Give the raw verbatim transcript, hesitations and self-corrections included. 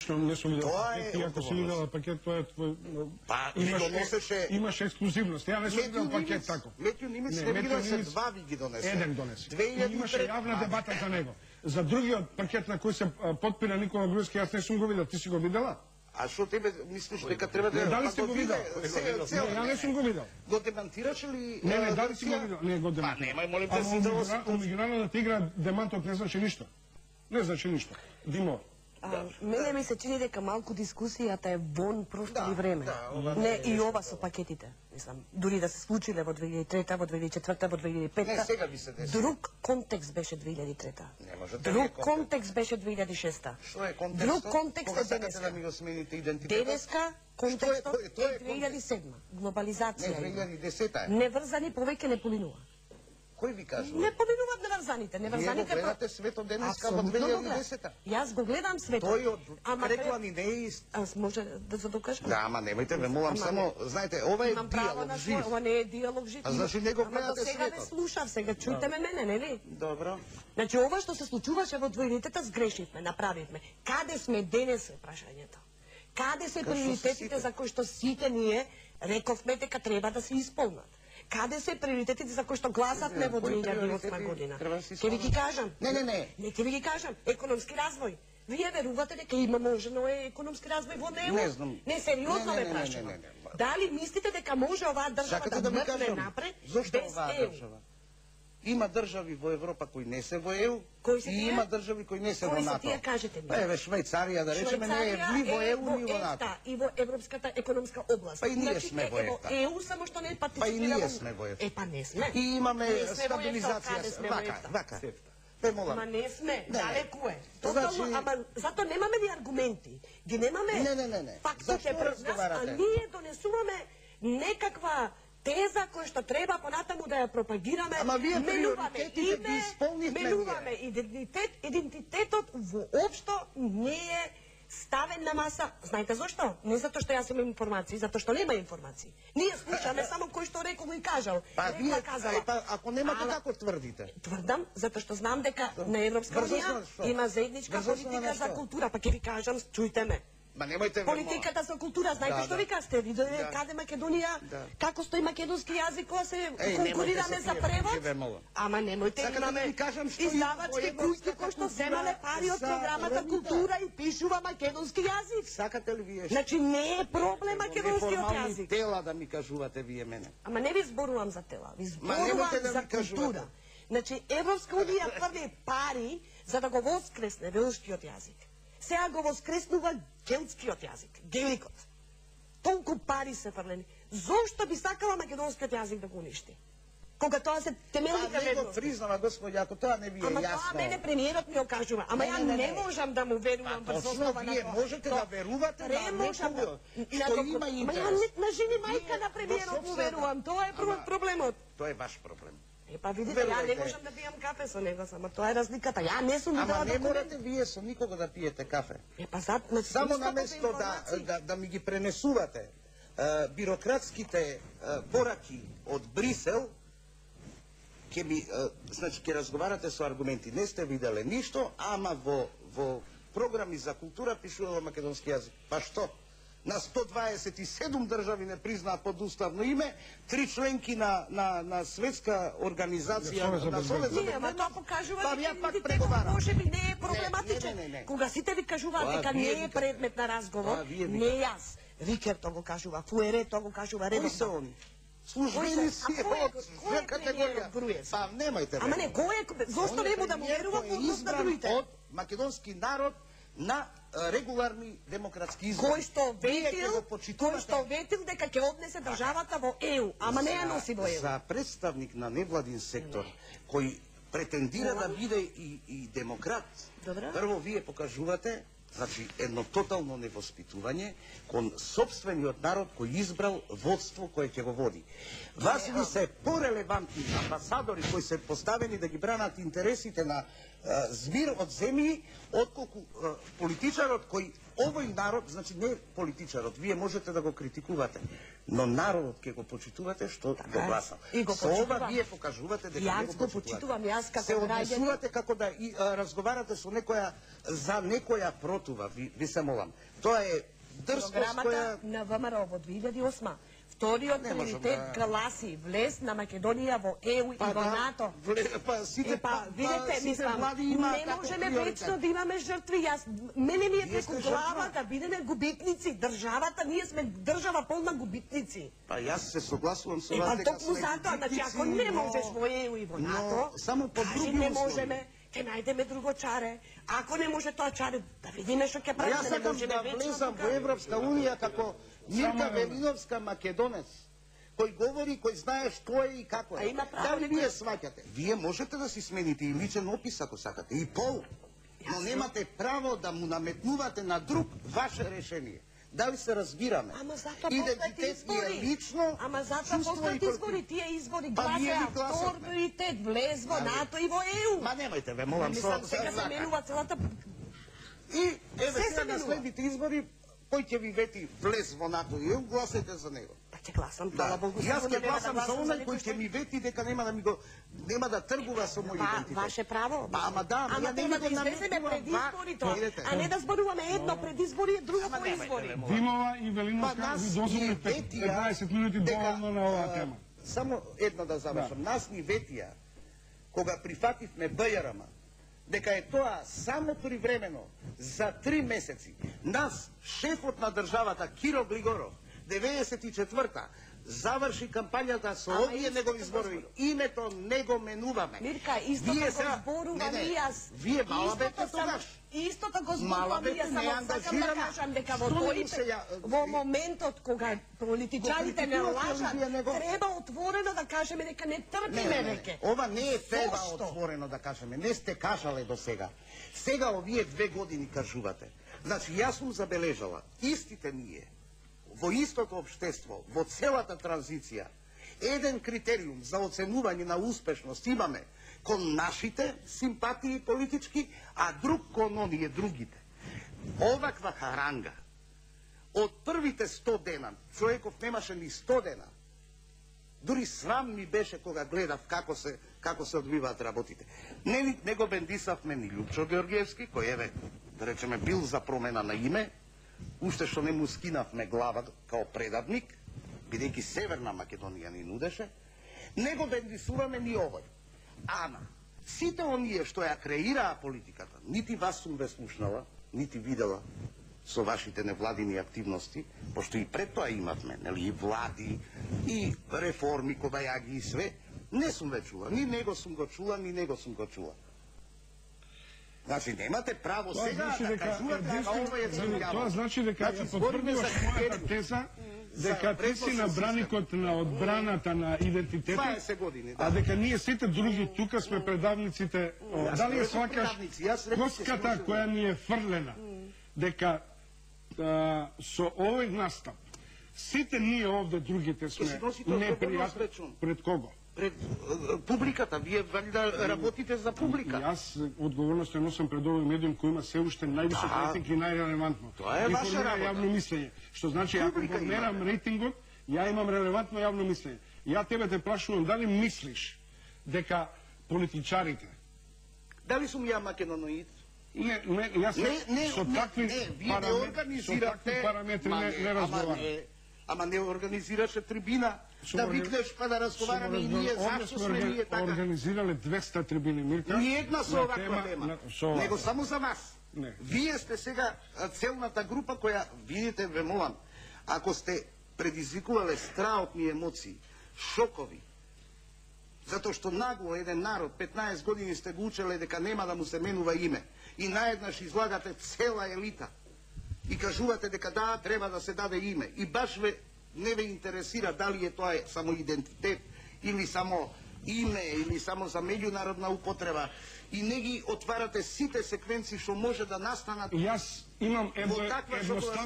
Не сум видел пакет, ти ако си видела пакет, тоа е твој... Па, ги донесеше... Имаше ексклузивност, ја не сум видел пакет тако. Метју Нимец не виделше, два ви ги донесе. Еден донесе. Имаше јавна дебата за него. За другиот пакет на кој се подпира Никола Груевски, јас не сум го видел, ти си го видела? А што тебе мислиш дека треба да... Дали сте го видел? Ја не сум го видел. Го демантираш ли... Не, не, дали си го видел? Не, го демантираш. Па, немај, молим те си да... А меѓународната игра демантот не значи ништо. Не значи ништо. Димо. Мене ми се чини дека малку дискусијата е вон прошло време. Не, и ова со пакетите. Мислам, дури да се случиле во две илјади и трета, во две илјади и четврта, во две илјади и петта. Не, сега би се десило. Друг контекст беше две илјади и трета. Не може да Друг контекст беше две илјади и шеста. Што е контекстот? Друг контекст е денеска. Да ми го смените идентитетот? Денеска контекстот е две илјади и седма. Глобализација. Не, две илјади и десета е. Неврзани повеќе не поминува. Кој ви кажува? Не поминуваат неврзаните. Неврзаните... Вие го гледате светот денеска во две илјади и десета. Јас го гледам светот. Тој од реклами не е ист. Аз може да се докажам? Да, ама немајте ме молам, само, знаете, ова е диалог жив. Ова не е диалог жив. А значи не го гледате светот. Ама до сега не слушав, сега чујте ме мене, нели? Добро. Значи ова што се случуваше во двојнитета сгрешивме, направивме. Каде сме денес е прашањето? Каде се приоритетите за кои што сите ние рековме дека треба да се исполнат? Каде се приоритетите за кои што гласавме во две илјади и осма година? Ке ви ги кажам. Не, не, не. Не, ке ви ги кажам. Економски развој. Вие верувате дека има можено е економски развој во него? Не знам. Не, сериозно ме прашувам. Дали мислите дека може оваа држава да мртне напред без ЕУ? Има држави во Европа кои не се во ЕУ и има држави кои не се во НАТО. Кои се тие, кажете ми? Еве Швајцарија, да речеме, не е ни во ЕУ, ни во НАТО. И во Европската економска област. Па и ние сме во ЕФТА. ЕУ само што не партиципира. Па и ние сме во ЕФТА. Е, па не сме. И имаме стабилизација. Вака, вака. Бе, молам. Ама не сме, не, далеку е. Значи... Тотално, ама зато немаме ни аргументи. Ги немаме не, не, не, не. фактите пред нас, а ние донесуваме некаква теза која што треба понатаму да ја пропагираме. Ама вие приоритетите ги исполнивме. Менуваме идентитет, идентитетот воопшто не е ставен на маса. Знаете зошто? Не затоа што јас имам информации, затоа што нема информации. Ние слушаме само кој што рекол и кажал. Па вие казала. Па ако немате како тврдите? Тврдам затоа што знам дека на Европска унија има заедничка политика за култура, па ќе ви кажам, чујте ме. Ма немојте политиката за култура, знаете што ви кажете? Виделе каде Македонија, како стои македонски јазик кога се конкурираме за превод? Ама немојте имаме издавачки куќи кои што земале пари од програмата култура и пишува македонски јазик. Сакате ли вие? Значи не е проблем македонскиот јазик. Неформални тела да ми кажувате вие мене. Ама не ви зборувам за тела, ви зборувам за култура. Значи Европска унија први пари за да го воскресне велшкиот јазик. Сега го воскреснува гелтскиот јазик, геликот. Толку пари се фрлени. Зошто би сакала македонскиот јазик да го уништи? Кога тоа се темелните вредности. А не го признава, господи, ако тоа не ви е ама јасно. Ама тоа мене премиерот ми окажува. Ама ја не, не, не можам да му верувам врз основа на тоа. Вие можете да верувате на некој што има интерес. Ама ја на жени мајка на премиерот му верувам. Тоа е проблемот. Тоа е ваш проблем. Е, па видите, ја не можам да пијам кафе со него, само тоа е разликата. Ја не сум видела документ. Ама не морате вие со никого да пиете кафе. Е, па зад... Само наместо да, да, да ми ги пренесувате е, бирократските е, пораки од Брисел, ќе ми, е, значи, ќе разговарате со аргументи. Не сте виделе ништо, ама во, во програми за култура пишува македонски јазик. Па што? На сто дваесет и седум држави не признаат под уставно име, три членки на, на, на светска организација, на Совет за безбедност. Не, ама тоа покажува па, дека идентитетот може би не е проблематичен. Не, не, не, не. Кога сите ви кажуваат дека не е предмет на разговор, не јас. Рикер тоа го кажува, Фуере тоа го кажува, редовно. Кои се они? Службени си од за категорија. Па немајте. Ама не, кој е, зошто не му да му верувам во однос на другите? Од македонски народ на регуларни демократски избори. Кој што ветил, кој што ветил дека ќе однесе државата во ЕУ, ама не ја носи во ЕУ. За представник на невладин сектор кој претендира да биде и, и демократ, прво вие покажувате, значи, едно тотално невоспитување кон собствениот народ кој избрал водство кое ќе го води. Вас ви се порелевантни амбасадори кои се поставени да ги бранат интересите на а, збир од земји, отколку а, политичарот кој овој народ, значи не политичарот, вие можете да го критикувате, но народот ќе го почитувате што го гласал. Со ова вие покажувате дека Јас не го го почитувам, јас како се граѓанин. однесувате како да и, а, разговарате со некоја за некоја протува, ви, ви се молам. Тоа е дрскост Програмата која на ВМРО во две илјади и осма. Вториот Не можам приоритет да- гласи влез на Македонија во Е У и во да, НАТО. вле- па сите Е, па, видете, сите мислам, влади имаат не таков можеме приоритет. вечно да имаме жртви. Јас, мене ми е Вие преку сте глава жртва. да бидеме губитници. Државата, ние сме држава полна губитници. Па јас се согласувам со Е, вас па дека токму сме затоа, значи губитници, ако не но- можеш во Е У и во но НАТО, само по кажи други не услови. можеме, ќе најдеме друго чаре. Ако не може тоа чаре, да видиме што ќе Јас правиме, не сакам можеме да вечно влезам тука. во Европска унија како Мирка Само- Велиновска македонец, кој говори, кој знае што е и како А е. има право Дали некој- вие сваќате? Вие можете да си смените и личен опис ако сакате, и пол, но Јас немате право да му наметнувате на друг ваше решение. Дали се разбираме? Ама затоа Идентитет постојат е избори. лично, Ама затоа чувство и постојат култура. избори, тие избори Па ние гласеа ги гласавме. втор приоритет, влез во Ами. НАТО и во Е У. Ма немајте ве, молам, Мислам, со- сега со- се менува целата. И еве Се се сега на менува. следните избори, кој ќе ви вети влез во НАТО и Е У, гласете за него. Па ќе гласам, Да, фала Богу. јас сигурно ќе нема да гласам за гласам оној некој кој што- ќе ми вети дека нема да ми го нема да тргува со мој Па, идентитет. ваше право. Па, ама да, ама ама ја не треба ви да го излеземе наметнувам пред вак, изборите, видите. а не да зборуваме едно пред избори, и друго Ама по немајте, избори. бе, молам. Димова и Па Велиновска нас ви ни дозволите ветија петнаесет минути дека, доволно на оваа а, тема. Само едно да завршам. Нас ни ветија кога прифативме Б Ј Р М дека е тоа само привремено за три месеци. Нас, шефот на државата Киро Глигоров, деветдесет и четврта заврши кампањата со Ама овие исто негови како зборови. зборува. Името не го менуваме. Мирка, исто Вие како сега- зборувам Не, не, и јас. Вие мала Истото бете само- тогаш. Исто како Мала зборувам и бете, јас, не само сакам да ангажирана. кажам дека во Што не тој му се ја- во моментот кога политичарите не Го критикувате ли лажат, вие него? треба отворено да кажеме дека не Не, трпиме не, не, веќе. ова не е треба Зошто? отворено да кажеме. Не сте кажале до сега. Сега овие две години кажувате. Значи, јас сум забележала, истите ние, во истото општество, во целата транзиција, еден критериум за оценување на успешност имаме кон нашите симпатии политички, а друг кон оние другите. Оваква харанга, од првите сто дена, човеков немаше ни сто дена, дури срам ми беше кога гледав како се како се одвиваат работите. Не, ни- не го бендисавме ни Лјупчо Георгиевски, кој еве, да речеме, бил за промена на име, уште што не му скинавме глава као предавник, бидејќи Северна Македонија ни нудеше, не го бендисуваме ни овој. Ама, сите оние што ја креираа политиката, нити вас сум ве слушнала, нити видела со вашите невладини активности, пошто и пред тоа имавме, нели, и влади, и реформи, кобајаги и све, не сум ве чула, ни него сум го чула, ни него сум го чула. Значи, немате право Тоа сега значи да дека кажувате, ама единствено- ова е црвјаво. Тоа значи дека Значи, ја збориме за потврдуваш мојата критерии. теза За дека ти си на вредносен браникот на одбраната на идентитетот, дваесет години, да. а дека ние сите други тука сме предавниците. О, Јас Дали не ја сум свакаш предавници, јас реков ќе коската слушам. која ни е фрлена, дека а, со овој настап сите ние овде другите си сме носите одговорност, непријатни речом. пред кого? Пред е, публиката, вие вали да работите за И публика. јас одговорност ја носам пред овој медиум кој има се уште највисок Да. рейтинг и најрелевантно. Тоа е ваша Информира работа. јавно мислење. Што значи, ако Публика го мерам имате. рейтингот, ја имам релевантно јавно мислење. Ја тебе те прашувам, дали мислиш дека политичарите Дали сум ја македоноид? не, не, јас Не, не, со не, такви не, вие не параме- организирате... со такви параметри Ма не, не ама разговарам. не, ама не организираше трибина, Сум да органи- викнеш па да разговараме и ние, Овде зашто сме сме орга- ние така? организирале двеста трибини, Мирка. Ниједна со на оваква тема, на- со оваква. него само за вас. Не. Вие сте сега а, целната група која, видите, ве молам, ако сте предизвикувале страотни емоции, шокови, затоа што нагло еден народ, петнаесет години сте го учеле дека нема да му се менува име, и наеднаш излагате цела елита, и кажувате дека да, треба да се даде име, и баш ве не ве интересира дали е тоа само идентитет, или само име, или само за меѓународна употреба, и не ги отварате сите секвенции што може да настанат Јас имам едно во таква едноставно